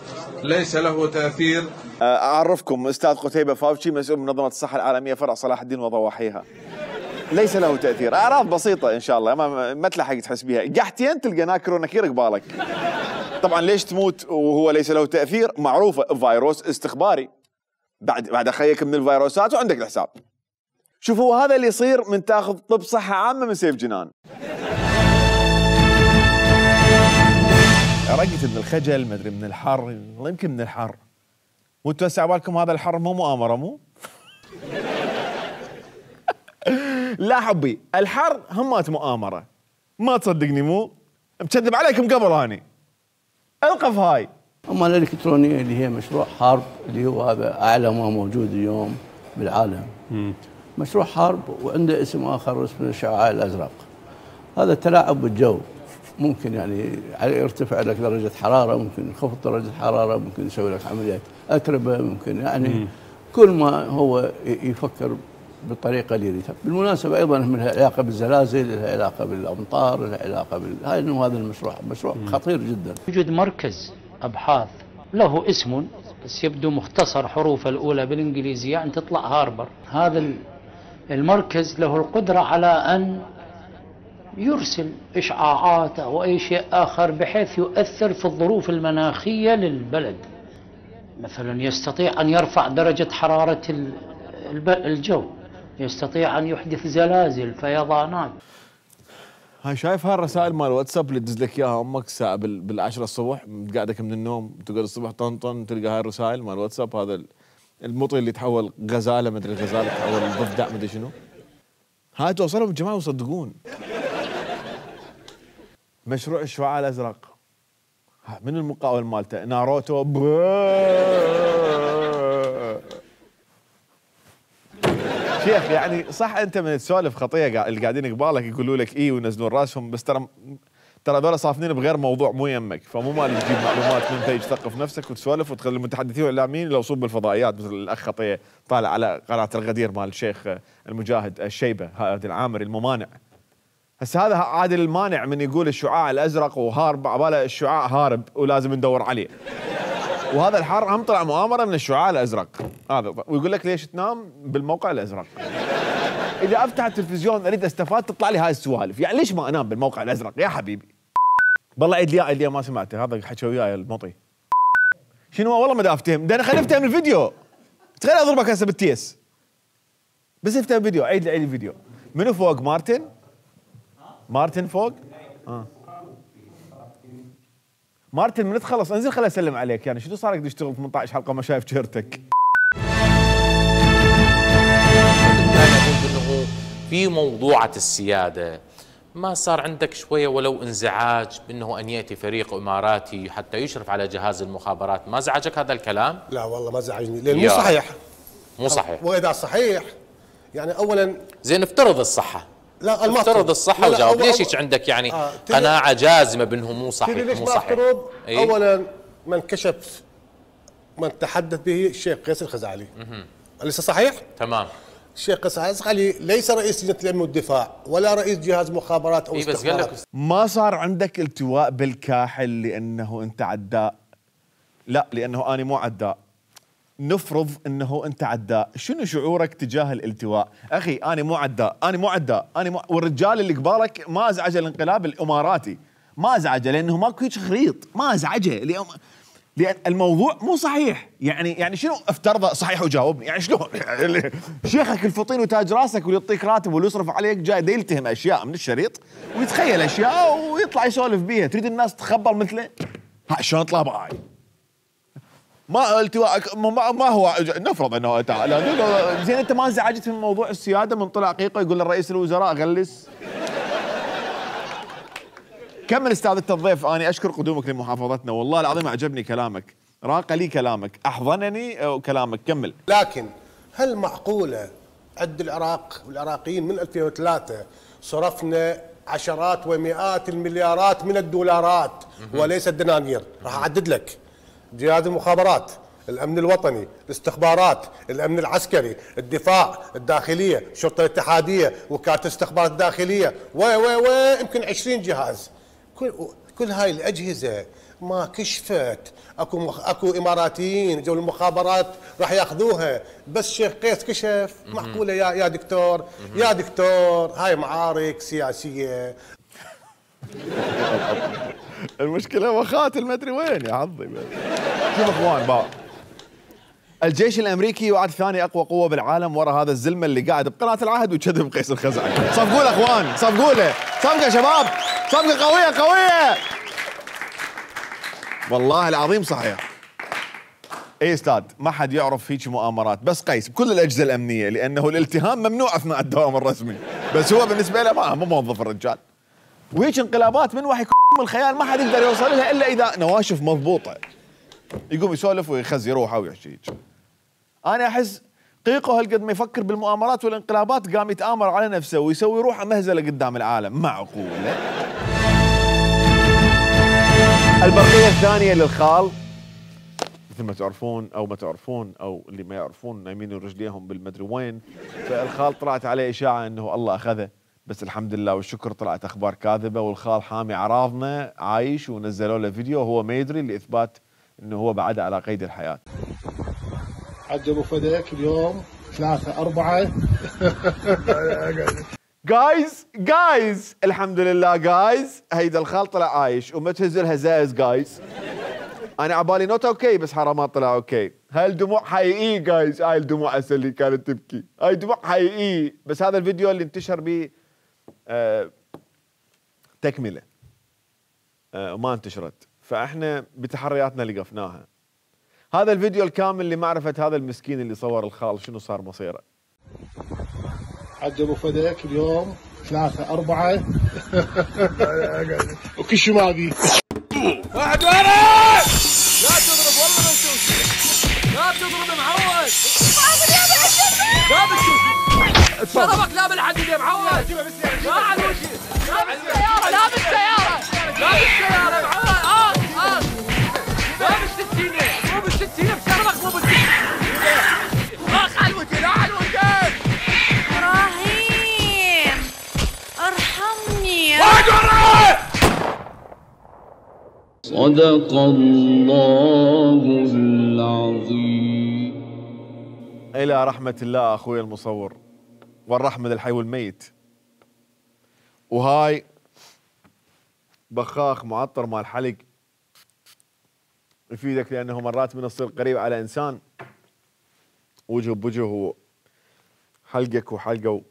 ليس له تأثير. أعرفكم أستاذ قتيبة فاوتشي مسؤول من منظمة الصحة العالمية فرع صلاح الدين وضواحيها. ليس له تأثير، أعراض بسيطة إن شاء الله ما تلحق تحس بيها، قحتين تلقى ناكر ونكير قبالك. طبعا ليش تموت وهو ليس له تأثير؟ معروفة، فيروس استخباري، بعد أخيك من الفيروسات وعندك الحساب. شوفوا هذا اللي يصير من تاخذ طب صحة عامة من سيف جنان. رقت من الخجل، ما ادري من الحر، والله يمكن من الحر. مو توسع بالكم هذا الحر مو مؤامرة مو؟ لا حبي، الحر همات مؤامرة. ما تصدقني مو؟ مكذب عليكم قبل اني. القف هاي. اما الالكترونية اللي هي مشروع حرب اللي هو هذا اعلى ما موجود اليوم بالعالم. مشروع حرب وعنده اسم اخر اسمه الشعاع الازرق. هذا تلاعب بالجو، ممكن يعني يرتفع لك درجة حرارة، ممكن يخفض درجة حرارة، ممكن يسوي لك عمليات أتربة، ممكن يعني كل ما هو يفكر بالطريقة اللي يريدها. بالمناسبة أيضا لها علاقة بالزلازل، لها علاقة بالأمطار، لها علاقة هاي إنه هذا مشروع خطير جدا. يوجد مركز أبحاث له اسم بس يبدو مختصر حروفه الأولى بالإنجليزية يعني تطلع هاربر. هذا المركز له القدرة على أن يرسل إشعاعات أو أي شيء آخر بحيث يؤثر في الظروف المناخية للبلد. مثلا يستطيع أن يرفع درجة حرارة الجو، يستطيع أن يحدث زلازل، فيضانات. هاي شايف هالرسائل مال واتساب اللي تدز لك اياها امك الساعه بال10 الصبح قاعدك من النوم تقعد الصبح طنطن تلقى هاي الرسائل مال واتساب، هذا المطي اللي تحول غزاله، مدري الغزاله تحول ضفدع مدري شنو. هاي توصلهم الجماعه ويصدقون. مشروع الشعاع الازرق من المقاول مالته ناروتو شيخ يعني صح انت من تسولف خطيه اللي قاعدين قبالك يقولوا لك اي وينزلون راسهم، بس ترى هذول صافنين بغير موضوع مو يمك، فمو مال تجيب معلومات من تيجي تثقف نفسك وتسولف وتخلي المتحدثين والاعلاميين يلوصون بالفضائيات، مثل الاخ خطيه طالع على قناه الغدير مال الشيخ المجاهد الشيبه هذا العامري الممانع. هسه هذا عادل المانع من يقول الشعاع الازرق وهارب عباله الشعاع هارب ولازم ندور عليه. وهذا الحر هم طلع مؤامره من الشعاع الازرق هذا، ويقول لك ليش تنام بالموقع الازرق؟ اذا افتح التلفزيون اريد استفاد تطلع لي هاي السوالف، يعني ليش ما انام بالموقع الازرق يا حبيبي؟ بالله عيد لي ما سمعته هذا حكى وياي المطي. شنو والله ما دا افتهم، ده انا خليني افتهم الفيديو. تخيل اضربك هسه بالتيس. بس افتهم الفيديو، عيد لي الفيديو. منو فوق مارتن؟ مارتن فوق؟ مارتن من تخلص انزل خليني اسلم عليك، يعني شنو صار لك تشتغل 18 حلقه ما شايف شهرتك؟ انه في موضوعة السيادة ما صار عندك شوية ولو انزعاج بأنه أن يأتي فريق إماراتي حتى يشرف على جهاز المخابرات؟ ما زعجك هذا الكلام؟ لا والله ما زعجني، لأن مو صحيح. مو صحيح. وإذا صحيح يعني أولا زين افترض الصحة. لا افترض الصحة وجاوب. ليش هيك عندك يعني قناعة جازمة بأنه مو صحيح؟ ليش مو ما صحيح؟ افترض؟ أولا من كشف من تحدث به الشيخ قيس الخزعلي. أليس صحيح؟ تمام. الشيخ قيس الخزعلي ليس رئيس لجنة الأمن والدفاع ولا رئيس جهاز مخابرات أو استخبارات. ما صار عندك التواء بالكاحل لأنه أنت عداء. لا، لأنه أنا مو عداء. نفرض أنه أنت عداء، شنو شعورك تجاه الالتواء؟ أخي أنا مو عداء، والرجال اللي قبالك ما أزعجه الانقلاب الإماراتي، ما أزعجه لأنه ماكو هيك خليط، ما أزعجه لأن الموضوع مو صحيح. يعني شنو افترض صحيح وجاوبني؟ يعني شلون؟ شيخك الفطين وتاج راسك واللي يعطيك راتب واللي يصرف عليك جاي دا يلتهم اشياء من الشريط ويتخيل اشياء ويطلع يسولف بيها، تريد الناس تخبر مثله؟ ها شلون اطلع باي؟ ما التواء ما هو نفرض انه زين انت ما انزعجت من موضوع السياده من طلع قيقه يقول لرئيس الوزراء غلس؟ كمل استاذ الضيف. انا اشكر قدومك لمحافظتنا، والله العظيم اعجبني كلامك، راق لي كلامك، احضنني كلامك، كمل. لكن هل معقوله عند العراق والعراقيين من 2003 صرفنا عشرات ومئات المليارات من الدولارات وليس الدنانير؟ راح اعدد لك: جهاز المخابرات، الامن الوطني، الاستخبارات، الامن العسكري، الدفاع، الداخليه، الشرطه الاتحاديه، وكاله الاستخبارات الداخليه، يمكن 20 جهاز. كل هاي الاجهزه ما كشفت، اكو اماراتيين جو المخابرات راح ياخذوها، بس شيخ قيس كشف. معقوله يا دكتور؟ يا دكتور هاي معارك سياسيه. المشكله وخاتل ما ادري وين يا حظي. شوف اخوان بقى، الجيش الامريكي يعد ثاني اقوى قوه بالعالم ورا هذا الزلمه اللي قاعد بقناه العهد ويكذب قيس الخزعلي. صفقوا له اخوان، صفقوا له، صفقه شباب، صفقه قويه قويه. والله العظيم صحيح. اي استاذ، ما حد يعرف هيك مؤامرات، بس قيس بكل الاجهزه الامنيه، لانه الالتهام ممنوع اثناء الدوام الرسمي، بس هو بالنسبه له مو موظف الرجال. وهيك انقلابات من وحي الخيال ما حد يقدر يوصل لها الا اذا نواشف مضبوطه. يقوم يسولف ويخزي روحه ويحكي. انا احس قيقه هالقد ما يفكر بالمؤامرات والانقلابات قام يتآمر على نفسه ويسوي روحه مهزله قدام العالم. معقوله؟ البرقيه الثانيه للخال، مثل ما تعرفون او ما تعرفون او اللي ما يعرفون نايمين رجليهم بالمدري وين، فالخال طلعت عليه اشاعه انه الله اخذه، بس الحمد لله والشكر طلعت اخبار كاذبه، والخال حامي اعراضنا عايش، ونزلوا له فيديو وهو ما يدري لاثبات انه هو بعد على قيد الحياه. حج ابو فديك اليوم 3-4. جايز الحمد لله جايز، هيدا الخال طلع عايش وما تهزل هزايز جايز. انا عبالي نوت اوكي بس حرامات طلع اوكي. هاي الدموع حقيقي جايز، هاي الدموع هسه اللي كانت تبكي، هاي دموع حقيقي، بس هذا الفيديو اللي انتشر به تكمله وما انتشرت، فاحنا بتحرياتنا لقفناها. هذا الفيديو الكامل لمعرفه هذا المسكين اللي صور الخال شنو صار مصيره. حج ابو فديك اليوم 3-4. وكل شو باقي. واحد ورا! لا تضرب والله ما نشوف. لا تضرب معود. لا بتشوف. ضربك لا بالحديد يا معود. لا على وجهي. لا بالسيارة، لا بالسيارة. لا بالسيارة معود. لا بالسكينة. مو بالسكينة بشربك مو بالسكينة. اخ على الوجه، لا على الوجه. ابراهيم ارحمني. واحد ورا! صدق الله العظيم. إلى رحمة الله أخوي المصور، والرحمة للحي والميت. وهاي بخاخ معطر مال حلق يفيدك لانه مرات من تصير قريب على انسان وجه بوجه وحلقك وحلقه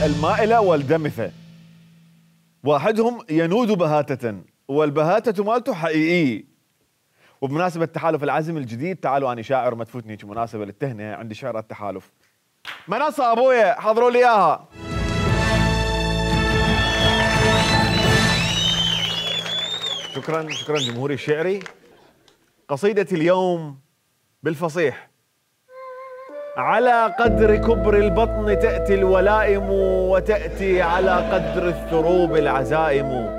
المائلة والدمثة واحدهم ينود بهاتة والبهاتة مالته حقيقية. وبمناسبة تحالف العزم الجديد تعالوا أنا شاعر ما تفوتني مناسبة للتهنئة عندي شعر التحالف. منصة أبويا حضروا لي إياها. شكرا جمهوري الشعري. قصيدتي اليوم بالفصيح. على قدر كبر البطن تأتي الولائم وتأتي على قدر الثروب العزائم.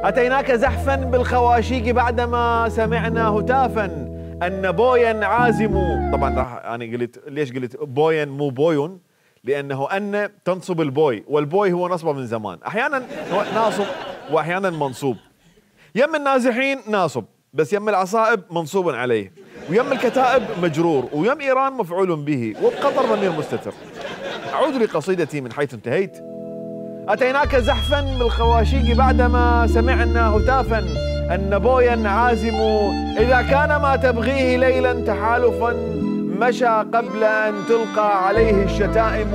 أتيناك زحفا بالخواشيق بعدما سمعنا هتافا أن بويا عازم. طبعا راح أنا قلت ليش قلت بويا مو بويون؟ لأنه أن تنصب البوي والبوي هو نصبه من زمان، أحيانا ناصب وأحيانا منصوب. يم النازحين ناصب بس يم العصائب منصوب عليه، ويم الكتائب مجرور، ويم إيران مفعول به، وبقطر ضمير مستتر. أعود لقصيدتي من حيث انتهيت. أتيناك زحفا بالخواشيق بعدما سمعنا هتافا أن بويا عازم. إذا كان ما تبغيه ليلا تحالفا مشى قبل أن تلقى عليه الشتائم.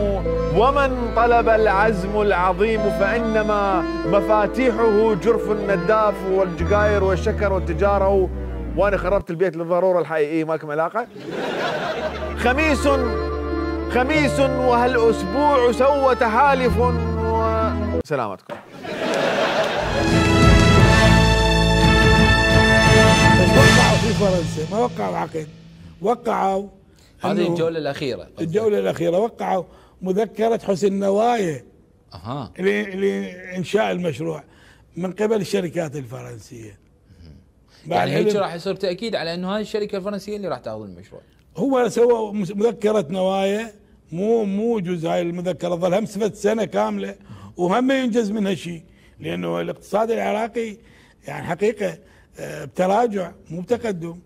ومن طلب العزم العظيم فإنما مفاتيحه جرف النداف والجقاير والشكر والتجارة. وأنا خربت البيت للضرورة الحقيقية ماكم علاقة. خميس وهالأسبوع سوى تحالف سلامتكم. بس وقعوا في فرنسا، ما وقعوا عقد، وقعوا هذه الجولة الأخيرة. الجولة الأخيرة وقعوا مذكرة حسن نوايا لإنشاء المشروع من قبل الشركات الفرنسية. يعني هيك راح يصير تأكيد على أنه هذه الشركة الفرنسية اللي راح تاخذ المشروع. هو سوى مذكرة نوايا، مو جزء هاي المذكرة ظل هم سنة كاملة وهم ينجز منها شيء، لأنه الاقتصاد العراقي يعني حقيقة بتراجع مو بتقدم.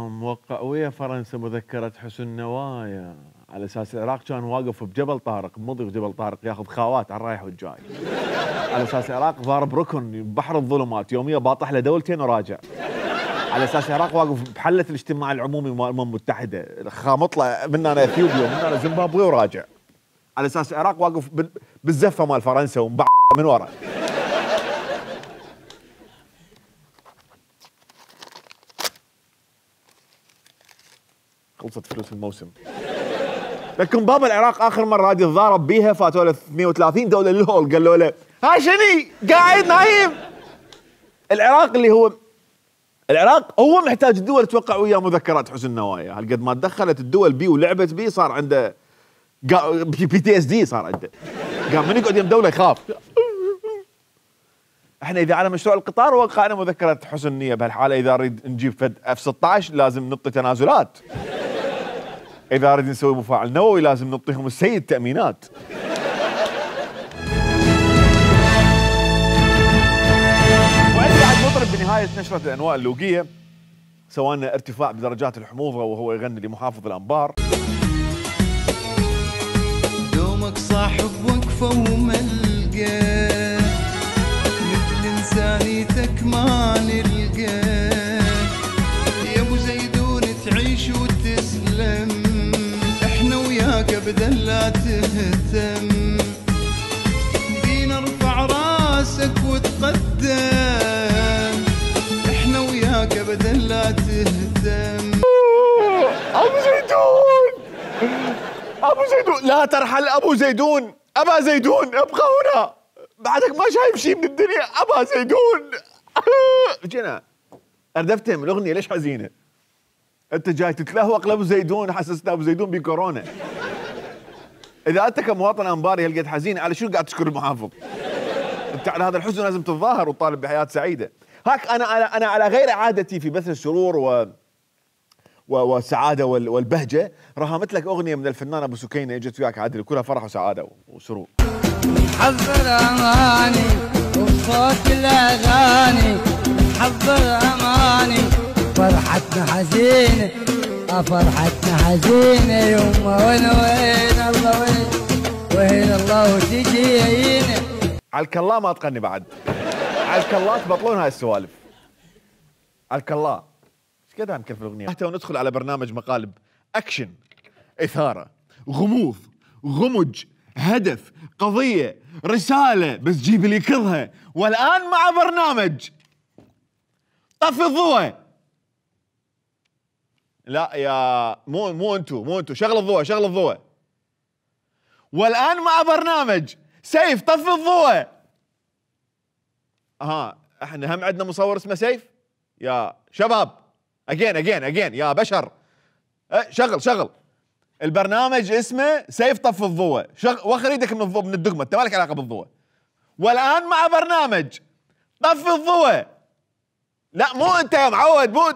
موقع ويا فرنسا مذكرة حسن نوايا على اساس العراق كان واقف بجبل طارق، مضي بجبل طارق ياخذ خاوات على الرايح والجاي، على اساس العراق ضارب ركن بحر الظلمات يوميا باطح له دولتين وراجع، على اساس العراق واقف بحله الاجتماع العمومي مال الامم المتحده، خامطله من انا اثيوبيا ومن انا زيمبابوي وراجع، على اساس العراق واقف بالزفه مال فرنسا ومبع من ورا. خلصت فلوس الموسم. لكن بابا العراق اخر مره راد يتضارب بيها فاتوا له 32 دوله للهول، قالوا له ها شني قاعد نايم. العراق هو محتاج الدول توقع وياه مذكرات حسن نوايا، هالقد ما دخلت الدول بيه ولعبت بيه صار عنده PTSD صار عنده. قام من يقعد يم دوله يخاف. احنا اذا على مشروع القطار وقعنا مذكره حسن نيه، بهالحاله اذا نريد نجيب فد F-16 لازم نعطي تنازلات. اذا نريد نسوي مفاعل نووي لازم نعطيهم السيد تامينات. وعندي بعد مطرب بنهايه نشره الانواء اللوقيه سوى لنا ارتفاع بدرجات الحموضه وهو يغني لمحافظ الانبار. دومك صاحب وقفه وملقاه مثل انسانيتك ما نلقاه، يا ابو زيدون تعيش وتسلم، احنا وياك ابدا لا تهتم، بينا ارفع راسك وتقدم، احنا وياك ابدا لا تهتم. ابو زيدون لا ترحل ابو زيدون، ابا زيدون ابقى هنا، بعدك ما شايف شيء من الدنيا ابا زيدون. جينا اردفتهم الاغنيه ليش حزينه؟ انت جاي تتلهوق لابو زيدون، حسسنا ابو زيدون بكورونا. اذا انت كمواطن انباري هالقد حزين على شو قاعد تشكر المحافظ؟ انت على هذا الحزن لازم تتظاهر وتطالب بحياه سعيده. هاك انا على غير عادتي في بث السرور والسعاده والبهجه، رهمت لك اغنيه من الفنان ابو سكينه اجت وياك عادل، كلها فرح وسعاده وسرور. حضر اماني وصوت الاغاني، حضر اماني فرحتنا حزينه، فرحتنا حزينه يما وين الله وين الله وتجينا. على الكلا ما تغني بعد، على الكلا تبطلون هاي السوالف. على الكلا ايش قد نكفي الاغنيه؟ حتى وندخل على برنامج مقالب اكشن، اثاره، غموض، غمج، هدف، قضيه، رساله، بس جيب لي كلها. والان مع برنامج طفي الضوء. لا يا مو انتو شغل الضوء. والان مع برنامج سيف طفي الضوء. احنا هم عندنا مصور اسمه سيف يا شباب. اجين يا بشر. شغل البرنامج اسمه سيف طفي الضوء. وخر ايدك من الضوء، من الدقمه، انت مالك علاقه بالضوء. والان مع برنامج طفي الضوء. لا مو انت يا معود، مو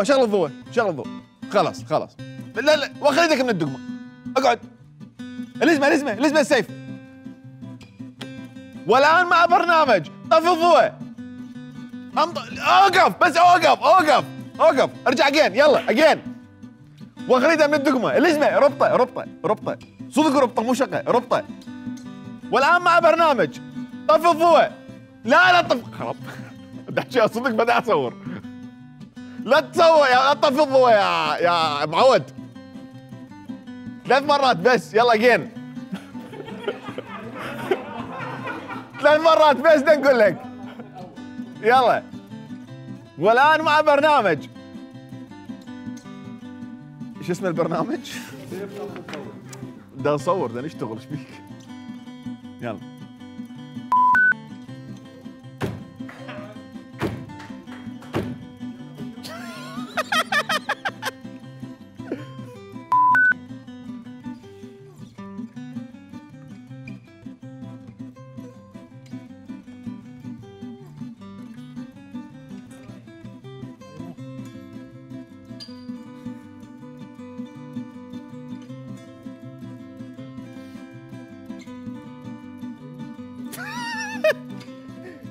شغل الضوء. خلاص لا وخر ايدك من الدقمه. اقعد. الاسم السيف. والان مع برنامج طفي الضوء. اوقف ارجع اجين، يلا اجين. وخريدها من الدقمه. الاسم ربطه صدق، ربطه مو شقه، ربطه. والان مع برنامج طفي الضوء. لا خلاص تحكي صدق بدأ اصور. لا تصور يا طفي الضوء يا معود. 3 مرات بس، يلا اجين. 3 مرات بس نقول لك. يلا. والان مع برنامج ايش اسم البرنامج؟ ده نصور، ده نشتغل، ايش بيك؟ يلا.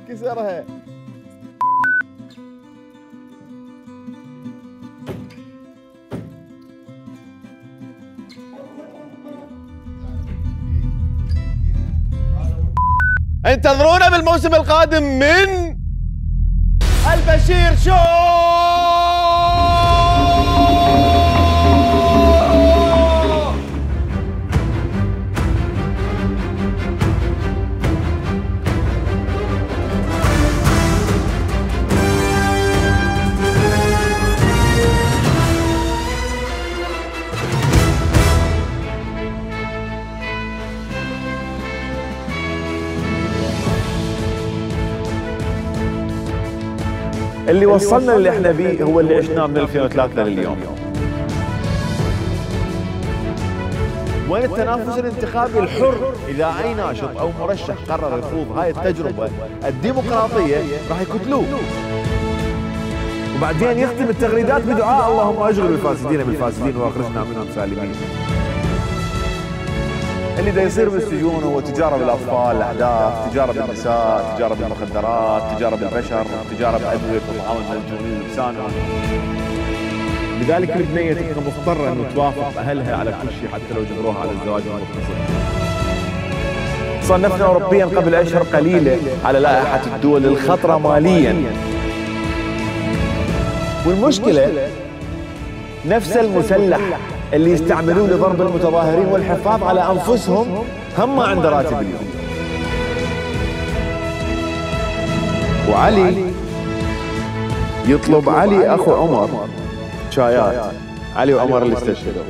كسرها. انتظرونا بالموسم القادم من البشير شو. اللي وصلنا اللي احنا بيه هو اللي عشناه من 2003 لليوم. وين التنافس الانتخابي الحر؟ اذا اي ناشط او مرشح قرر يخوض هاي التجربه الديمقراطيه راح يقتلوه. وبعدين يختم التغريدات بدعاء اللهم اشغل الفاسدين بالفاسدين واخرجنا منهم سالمين. اللي دا يصير بالسجون هو تجاره بالاطفال، الاحداث، تجاره بالنساء، تجاره بالمخدرات، تجاره بالبشر، تجاره بادويه وطعام الملجومين لسانهم. لذلك البنيه تبقى مضطره انه توافق اهلها على كل شيء حتى لو جبروها على الزواج المغتصب. صنفنا اوروبيا قبل اشهر قليله على لائحه الدول الخطره ماليا. والمشكله نفس المسلح اللي يستعملوه لضرب المتظاهرين والحفاظ على انفسهم هم ما عنده راتب اليوم. وعلي يطلب علي اخو عمر شايات، علي وعمر اللي استشهدوا.